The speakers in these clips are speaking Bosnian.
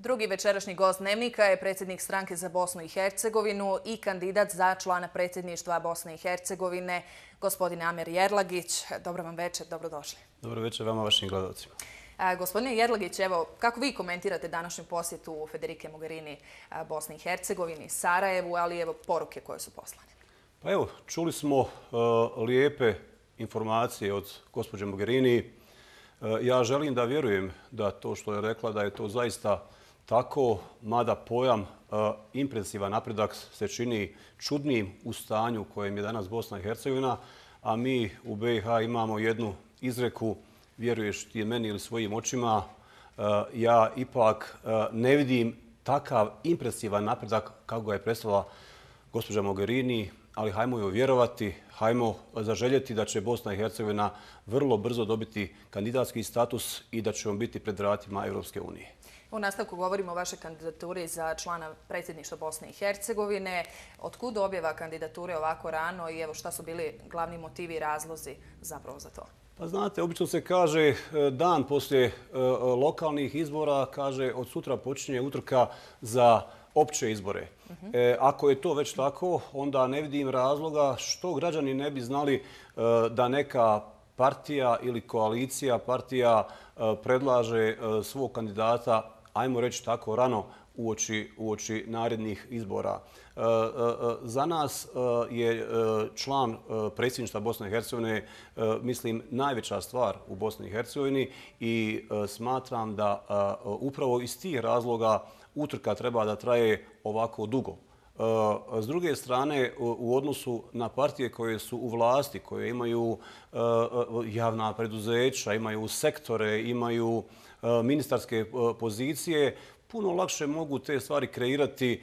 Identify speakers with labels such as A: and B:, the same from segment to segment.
A: Drugi večerašnji gost Dnevnika je predsjednik stranke za Bosnu i Hercegovinu i kandidat za člana predsjedništva Bosne i Hercegovine, gospodin Amer Jerlagić. Dobro vam večer, dobrodošli.
B: Dobro večer vama, vašim gledalcima.
A: Gospodine Jerlagić, evo, kako vi komentirate današnju posjetu Federike Mogherini Bosni i Hercegovini, Sarajevu, ali evo poruke koje su poslane?
B: Pa evo, čuli smo lijepe informacije od gospođe Mogherini. Ja želim da vjerujem da to što je rekla da je to zaista tako, mada pojam impresivan napredak se čini čudnim u stanju u kojem je danas Bosna i Hercegovina, a mi u BiH imamo jednu izreku: vjeruješ ti meni ili svojim očima. Ja ipak ne vidim takav impresivan napredak kako ga je predstavila gospođa Mogherini, ali hajmo joj vjerovati, hajmo zaželjeti da će Bosna i Hercegovina vrlo brzo dobiti kandidatski status i da će on biti pred vratima Europske unije.
A: U nastavku govorimo o vašoj kandidaturi za člana predsjedništva Bosne i Hercegovine. Otkud objava kandidature ovako rano i evo šta su bili glavni motivi i razlozi zapravo za to?
B: Pa znate, obično se kaže dan poslije lokalnih izbora, kaže od sutra počinje utrka za opće izbore. Ako je to već tako, onda ne vidim razloga što građani ne bi znali da neka partija ili koalicija partija predlaže svog kandidata, ajmo reći tako, rano uoči narednih izbora. Za nas je član predsjedništva Bosne i Hercegovine, mislim, najveća stvar u Bosni i Hercegovini i smatram da upravo iz tih razloga utrka treba da traje ovako dugo. S druge strane, u odnosu na partije koje su u vlasti, koje imaju javna preduzeća, imaju sektore, imaju ministarske pozicije, puno lakše mogu te stvari kreirati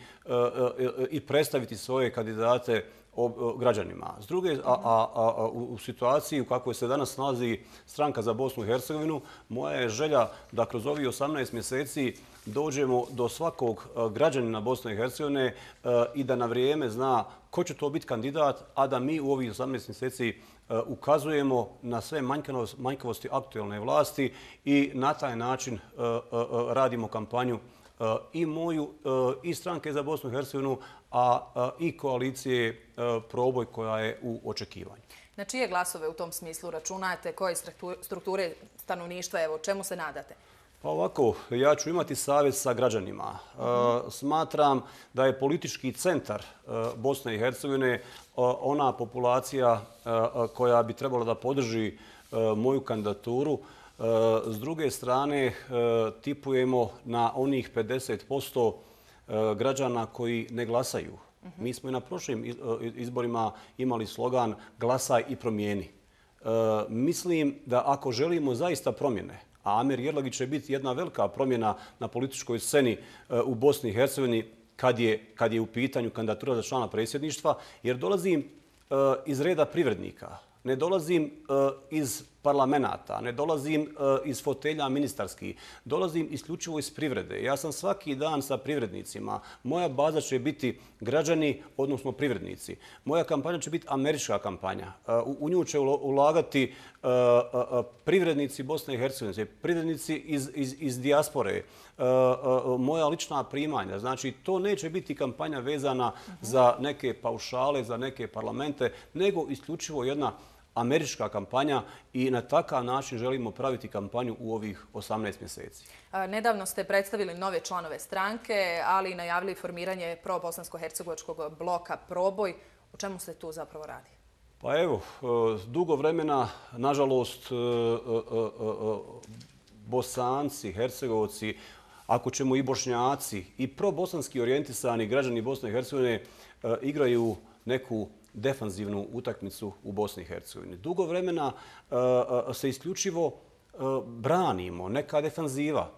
B: i predstaviti svoje kandidate građanima. S druge, u situaciji u kakvoj se danas nalazi stranka za Bosnu i Hercegovinu, moja je želja da kroz ovih 18 mjeseci dođemo do svakog građanina Bosne i Hercegovine i da na vrijeme zna ko će to biti kandidat, a da mi u ovih 18 mjeseci ukazujemo na sve manjkavosti aktualne vlasti i na taj način radimo kampanju i moju i stranke za Bosnu i Hercegovinu, a i koalicije Proboj koja je u očekivanju.
A: Na čije glasove u tom smislu računate? Koje strukture stanovništva? Evo, čemu se nadate?
B: Pa ovako, ja ću imati savjet sa građanima. Smatram da je politički centar Bosne i Hercegovine ona populacija koja bi trebala da podrži moju kandidaturu. S druge strane, tipujemo na onih 50% građana koji ne glasaju. Mi smo i na prošlim izborima imali slogan "Glasaj i promijeni". Mislim da ako želimo zaista promjene, a Amer Jerlagić će biti jedna velika promjena na političkoj sceni u Bosni i Hercegovini kad je u pitanju kandidatura za člana predsjedništva, jer dolazim iz reda privrednika, ne dolazim iz parlamenta, ne dolazim iz fotelja ministarskih, dolazim isključivo iz privrede. Ja sam svaki dan sa privrednicima. Moja baza će biti građani, odnosno privrednici. Moja kampanja će biti američka kampanja. U nju će ulagati privrednici Bosne i Hercegovine, privrednici iz dijaspore, moja lična primanja. Znači, to neće biti kampanja vezana za neke paušale, za neke parlamente, nego isključivo jedna američka kampanja i na takav način želimo praviti kampanju u ovih 18 mjeseci.
A: Nedavno ste predstavili nove članove stranke, ali i najavili formiranje pro-bosansko-hercegovačkog bloka Proboj. O čemu se tu zapravo radi?
B: Pa evo, dugo vremena, nažalost, Bosanci, Hercegovci, ako ćemo i Bošnjaci, i pro-bosanski orijentisani građani Bosne i Hercegovine igraju neku defanzivnu utakmicu u Bosni i Hercegovini. Dugo vremena se isključivo branimo, neka defanziva.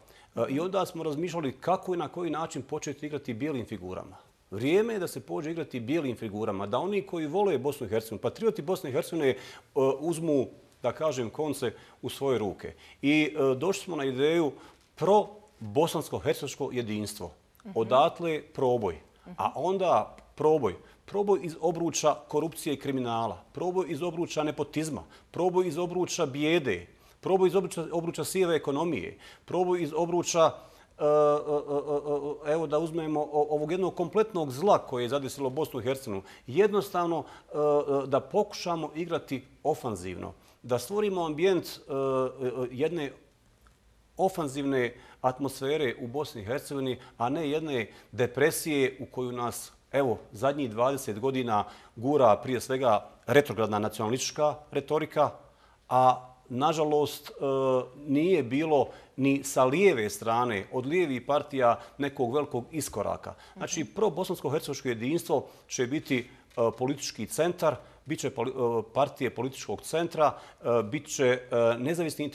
B: I onda smo razmišljali kako i na koji način početi igrati bijelim figurama. Vrijeme je da se pođe igrati bijelim figurama, da oni koji vole Bosnu i Hercegovinu, patrioti Bosne i Hercegovine, uzmu, da kažem, konce u svoje ruke. I došli smo na ideju pro-bosansko-hercegovačko jedinstvo. Odatle Proboj. A onda Proboj iz obruča korupcije i kriminala, proboj iz obruča nepotizma, proboj iz obruča bijede, proboj iz obruča sive ekonomije, proboj iz obruča evo da uzmemo ovog jednog kompletnog zla koje je zadesilo Bosnu i Hercegovinu, jednostavno da pokušamo igrati ofanzivno, da stvorimo ambijent jedne ofanzivne atmosfere u Bosni i Hercegovini, a ne jedne depresije u koju nas, evo, zadnjih 20 godina gura prije svega retrogradna nacionalistička retorika, a nažalost nije bilo ni sa lijeve strane, od lijevih partija, nekog velikog iskoraka. Znači, pro-bosansko-hercegovačko jedinstvo će biti politički centar, bit će partije političkog centra, bit će nezavisni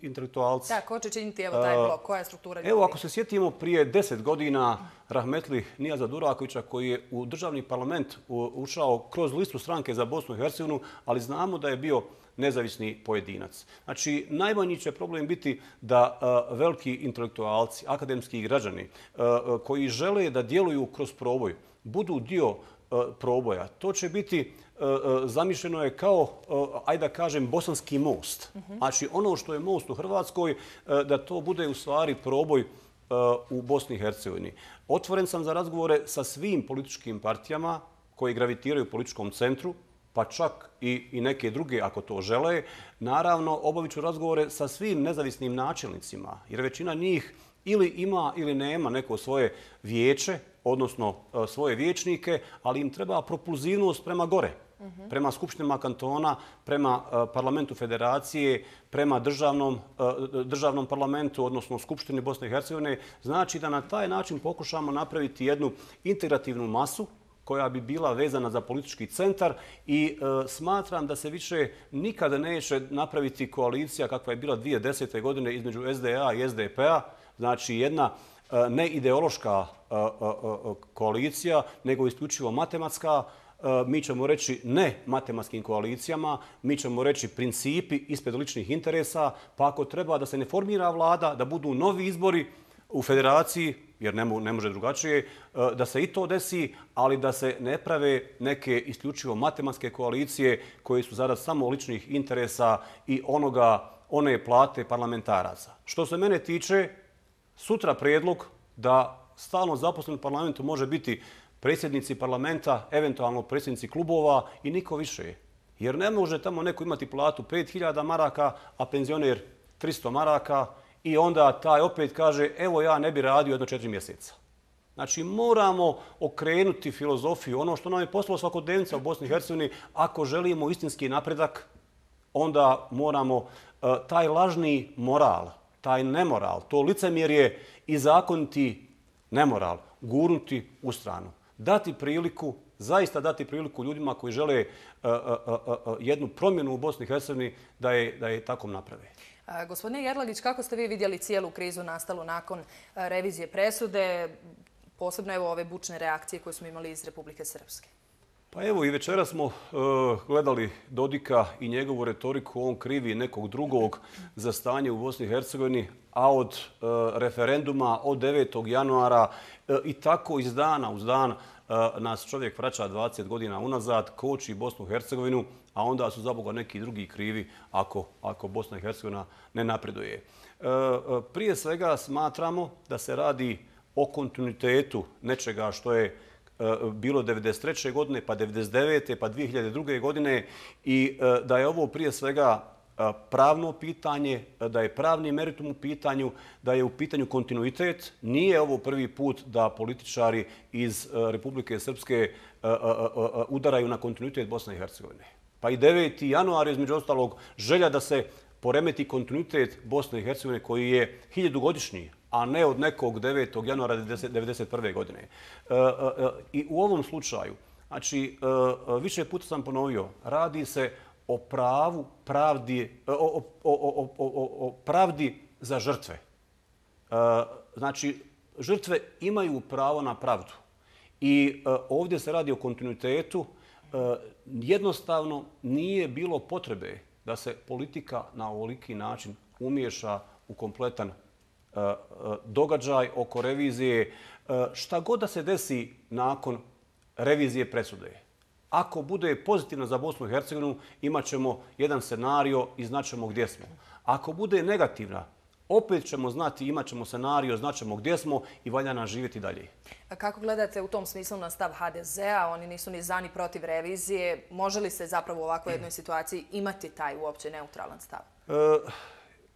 B: intelektualci.
A: Da, ko će činiti taj blok? Koja je struktura ljudi?
B: Evo, ako se sjetimo prije 10 godina rahmetli Nijaza Durakovića koji je u državni parlament ušao kroz listu stranke za Bosnu i Hercegovinu, ali znamo da je bio nezavisni pojedinac. Znači, najmanji će problem biti da veliki intelektualci, akademski građani koji žele da djeluju kroz proboj, budu dio proboja. To će biti zamišljeno je kao, ajde da kažem, bosanski most. Znači, ono što je most u Hrvatskoj, da to bude u stvari proboj u Bosni i Hercegovini. Otvoren sam za razgovore sa svim političkim partijama koji gravitiraju u političkom centru, pa čak i neke druge ako to žele. Naravno, obavit ću razgovore sa svim nezavisnim načelnicima, jer većina njih ili ima ili nema neko svoje vijeće, odnosno svoje vijećnike, ali im treba propulzivnost prema gore, prema skupštinama kantona, prema parlamentu federacije, prema državnom parlamentu, odnosno Skupštini Bosne i Hercegovine. Znači da na taj način pokušamo napraviti jednu integrativnu masu koja bi bila vezana za politički centar i smatram da se više nikada neće napraviti koalicija kakva je bila 2010. godine između SDA i SDP-a, znači jedna neideološka koalicija, nego isključivo matematska. Mi ćemo reći ne matematskim koalicijama, mi ćemo reći principi ispred ličnih interesa, pa ako treba da se ne formira vlada, da budu novi izbori u federaciji, jer ne može drugačije, da se i to desi, ali da se ne prave neke isključivo matematske koalicije koje su zarad samo ličnih interesa i one plate parlamentaraca. Što se mene tiče, sutra prijedlog da stalno zaposlen u parlamentu može biti predsjednici parlamenta, eventualno predsjednici klubova i niko više. Jer ne može tamo neko imati platu 5000 maraka, a penzioner 300 maraka i onda taj opet kaže evo ja ne bi radio jedno 4 mjeseca. Znači moramo okrenuti filozofiju, ono što nam je poslalo svakodnevnica u Bosni i Hercegovini, ako želimo istinski napredak, onda moramo taj lažni moral, taj nemoral, to licemjerje i zakoniti nemoral gurnuti u stranu. Dati priliku, zaista dati priliku ljudima koji žele jednu promjenu u Bosni i Hercegovini da je tako naprave.
A: Gospodine Jerlagić, kako ste vi vidjeli cijelu krizu nastalu nakon revizije presude, posebno evo ove bučne reakcije koje smo imali iz Republike Srpske?
B: Pa evo i večera smo gledali Dodika i njegovu retoriku, on krivi nekog drugog za stanje u Bosni i Hercegovini, a od referenduma od 9. januara i tako iz dana uz dan nas čovjek vraća 20 godina unazad, koči Bosnu i Hercegovinu, a onda su zaboga neki drugi krivi ako Bosna i Hercegovina ne napreduje. Prije svega smatramo da se radi o kontinuitetu nečega što je bilo 1993. godine, pa 1999. pa 2002. godine i da je ovo prije svega pravno pitanje, da je pravni meritum u pitanju, da je u pitanju kontinuitet. Nije ovo prvi put da političari iz Republike Srpske udaraju na kontinuitet Bosne i Hercegovine. Pa i 9. januar, između ostalog, želja da se poremeti kontinuitet Bosne i Hercegovine koji je 1000-godišnji, a ne od nekog 9. januara 1991. godine. I u ovom slučaju, znači, više puta sam ponovio, radi se o pravdi za žrtve. Znači, žrtve imaju pravo na pravdu. I ovdje se radi o kontinuitetu. Jednostavno nije bilo potrebe da se politika na ovoliki način umiješa u kompletan događaj oko revizije. Šta god da se desi nakon revizije presude. Ako bude pozitivno za Bosnu i Hercegovinu, imat ćemo jedan scenario i znaćemo gdje smo. Ako bude negativna, opet ćemo znati, imat ćemo scenario, znaćemo gdje smo i valja nam živjeti dalje.
A: A kako gledate u tom smislu na stav HDZ-a? Oni nisu ni za ni protiv revizije. Može li se zapravo u ovakvoj jednoj situaciji imati taj uopće neutralan stav?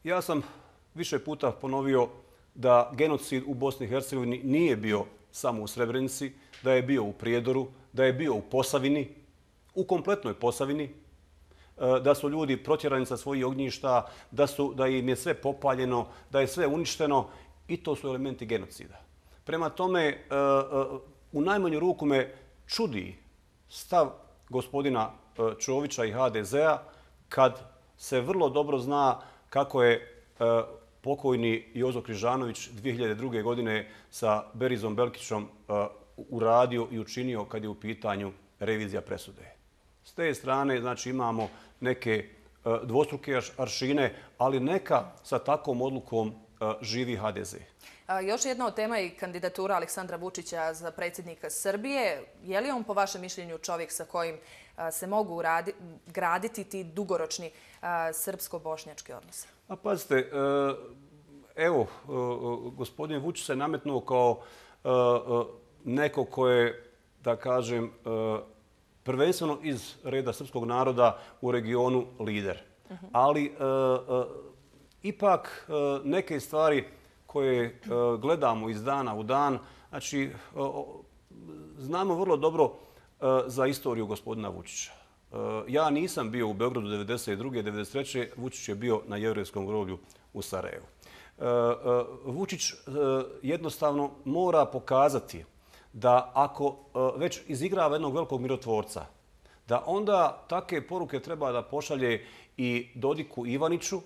B: Ja sam više puta ponovio da genocid u Bosni i Hercegovini nije bio samo u Srebrenici, da je bio u Prijedoru, da je bio u Posavini, u kompletnoj Posavini, da su ljudi protjerani sa svojih ognjišta, da im je sve popaljeno, da je sve uništeno i to su elementi genocida. Prema tome, u najmanju ruku me čudi stav gospodina Čovića i HDZ-a kad se vrlo dobro zna kako je pokojni Jozo Križanović 2002. godine sa Berizom Belkićom uradio i učinio kad je u pitanju revizija presude. S te strane znači, imamo neke dvostruke aršine, ali neka sa takvom odlukom živi HDZ.
A: Još jedna od tema je kandidatura Aleksandra Vučića za predsjednika Srbije. Je li on po vašem mišljenju čovjek sa kojim se mogu graditi ti dugoročni srpsko-bošnjački odnosi?
B: A pazite, evo, gospodin Vučić se nametnuo kao neko ko je, da kažem, prvenstveno iz reda srpskog naroda u regionu lider. Ali ipak neke stvari koje gledamo iz dana u dan, znači znamo vrlo dobro za istoriju gospodina Vučića. Ja nisam bio u Beogradu 1992. 1993. Vučić je bio na jevrejskom groblju u Sarajevu. Vučić jednostavno mora pokazati da ako već izigrava jednog velikog mirotvorca, da onda takve poruke treba da pošalje i Dodiku Ivaniću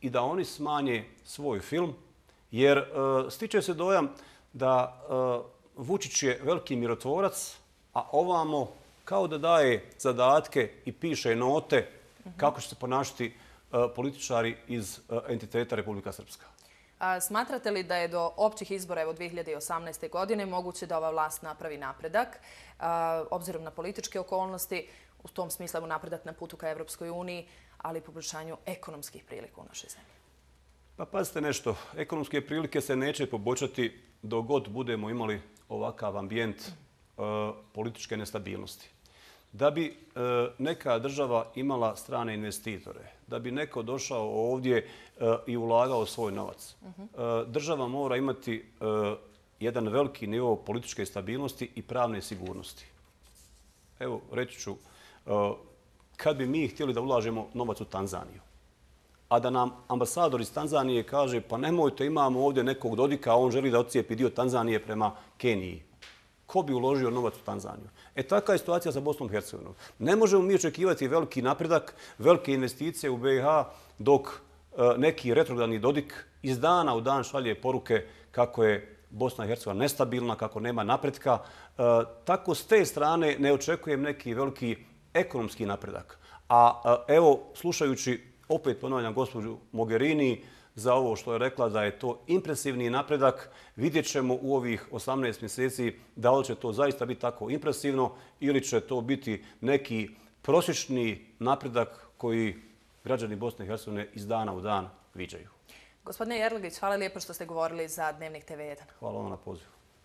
B: i da oni smanje svoj film, jer stiče se dojam da Vučić je veliki mirotvorac, a ovamo kao da daje zadatke i piše note kako će se ponašati političari iz entiteta Republika Srpska.
A: Smatrate li da je do općih izbora 2018. godine moguće da ova vlast napravi napredak, obzirom na političke okolnosti, u tom smislu napredak na putu ka Evropskoj uniji, ali i poboljšanju ekonomskih prilika u našoj zemlji?
B: Pa pazite nešto, ekonomske prilike se neće poboljšati dok god budemo imali ovakav ambijent političke nestabilnosti. Da bi neka država imala strane investitore, da bi neko došao ovdje i ulagao svoj novac, država mora imati jedan veliki nivo političke stabilnosti i pravne sigurnosti. Evo, reći ću, kad bi mi htjeli da ulažemo novac u Tanzaniju, a da nam ambasador iz Tanzanije kaže pa nemojte, imamo ovdje nekog Dodika, a on želi da odcijepi dio Tanzanije prema Keniji. Ko bi uložio novac u Tanzaniju? Taka je situacija sa Bosnom i Hercegovinom. Ne možemo mi očekivati veliki napredak, velike investicije u BiH dok neki retrogradni Dodik iz dana u dan šalje poruke kako je Bosna i Hercegovina nestabilna, kako nema napretka. Tako s te strane ne očekujem neki veliki ekonomski napredak. A evo, slušajući, opet ponavljam gospođu Mogherini, za ovo što je rekla da je to impresivni napredak, vidjet ćemo u ovih 18 mjeseci da li će to zaista biti tako impresivno ili će to biti neki prosječni napredak koji građani Bosne i Hercegovine iz dana u dan viđaju.
A: Gospodine Jerlagić, hvala lijepo što ste govorili za Dnevnik TV1.
B: Hvala vam na pozivu.